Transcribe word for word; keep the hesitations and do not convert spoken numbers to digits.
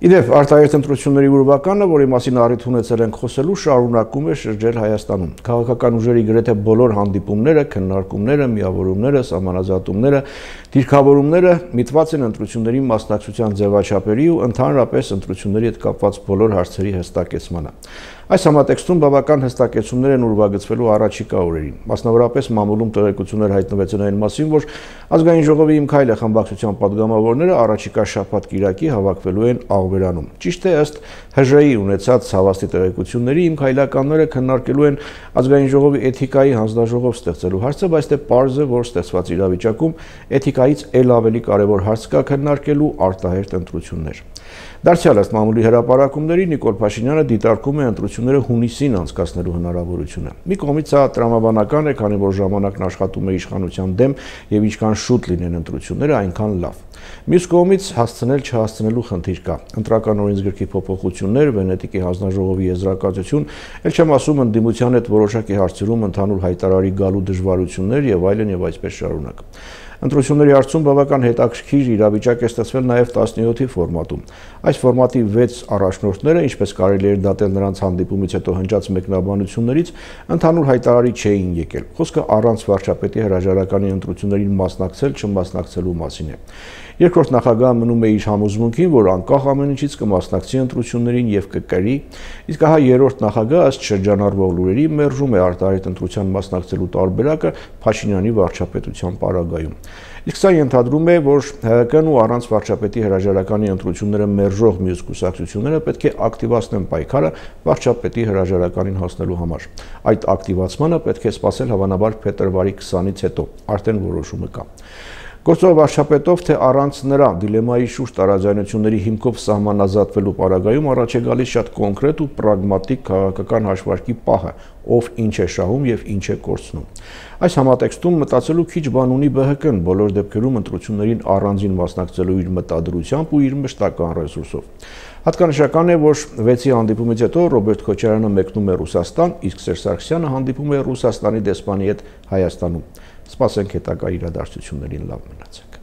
Իդեպ արտահերթ ընտրությունների ուրվականը, որի մասին առիթ ունեցել ենք խոսելու, շարունակում է շրջել Հայաստանում։ Քաղաքական ուժերի գրեթե բոլոր հանդիպումները, քննարկումները, միավորումները, սահմանազատումները, դիրքավորումները միտված են ընտրությունների մասնակցության ձևաչափերի ու ընդհանրապես ընտրությունների հետ կապված բոլոր հարցերի հստակեցմանը։ Այս համատեքստում բավական հստակեցումներ են ուրվագծվելու առաջիկա օրերին։ Մասնավորապես մամուլում տեղեկություններ հայտնվեցին այն մասին, որ Ազգային ժողովի Իմ քայլը խմբակցության падգամավորները առաջիկա շաբաթ-կիրակի հավաքվելու են Աղբերանում։ Ճիշտ է, ըստ Հ Ժ ի ունեցած հավաստի տեղեկությունների, Իմ քայլականները քննարկելու են Ազգային ժողովի էթիկայի հանձնաժողով ստեղծելու հարցը, բայց դե պարզ է, որ ստեղծված իրավիճակում էթիկայից էլ ավելի կարևոր հարց կա քննարկելու արտահերթ ընտրություններ։ Դարձյալ ըստ մամուլի հրապարակումների Նիկոլ Փաշինյանը դիտարկում է ընտրությունները հունիսին անցկացնելու հնարավորությունը։ Մի կողմից սա տրամաբանական է, քանի որ ժամանակն աշխատում է իշխանության դեմ եւ ինչքան շուտ լինեն ընտրությունները, այնքան լավ։ Մյուս կողմից հասցնել չհասցնելու խնդիր կա։ Ընտրական օրենսգրքի փոփոխություններ, Վենետիկի հանձնաժողովի եզրակացություն, ել չեմ ասում ընդդիմության հետ որոշակի հարցերում ընդհանուր հայտարարի գալու դժվարություններ եւ այլն եւ այսպես շարունակ։ Ընտրությունների հարցում բավական հետաքրքիր իրավիճակ է ստեղծվել նաև տասնյոթի ֆորմատում։ Այս ֆորմատի վեց առաջնորդները, ինչպես կարելի էր դատել նրանց հանդիպումից հետո հնչած մեկնաբանություններից, ընդհանուր հայտարարի չէին եկել։ Խոսքը առանց վարչապետի հրաժարականի ընտրություններին մասնակցել չմասնակցելու մասին է։ Երկրորդ նախագահը մնում է իր համոզմունքին, որ անկախ ամեն ինչից կմասնակցի ընտրություններին եւ կկրի, իսկ ահա երրորդ նախագահը ըստ շրջանառվող լուրերի մերժում է արտահերթ ընտրության մասնակցելու տարբերակը Փաշինյանի վարչապետության պարագայում։ Իսկ սա ենթադրում է, որ Հ Կ-ն ու առանց վարչապետի հրաժարականի ընտրությունները մերժող մյուս կուսակցությունները պետք է ակտիվացնեն պայքարը վարչապետի հրաժարականին հասնելու համար։ Այդ ակտիվացմանը պետք է սպասել հավանաբար փետրվարի քսանից հետո, արդեն որոշումը կա։ Գործող վարչապետով թե առանց նրա դիլեմայի շուրջ տարաձայնությունների հիմքով սահմանազատվելու պարագայում առաջ է գալիս շատ կոնկրետ ու պրագմատիկ քաղաքական հաշվարկի պահը, ով ինչ է շահում եւ ինչ է կորցնում։ Այս համատեքստում մտածելու քիչ բան ունի Բ Հ Կ-ն, բոլոր դեպքերում ընտրություններին առանձին մասնակցելու իր մտադրությամբ ու իր մշտական ռեսուրսով։ Հատկանշական է, որ վեցի հանդիպումից հետո Ռոբերտ Քոչարյանը մեկնում է Ռուսաստան, իսկ Սերժ Սարգսյանը հանդիպում է Ռուսաստանի դեսպանի հետ Հայաստանում։ Սպասենք հետագա իրադարձություններին, լավ մնացեք։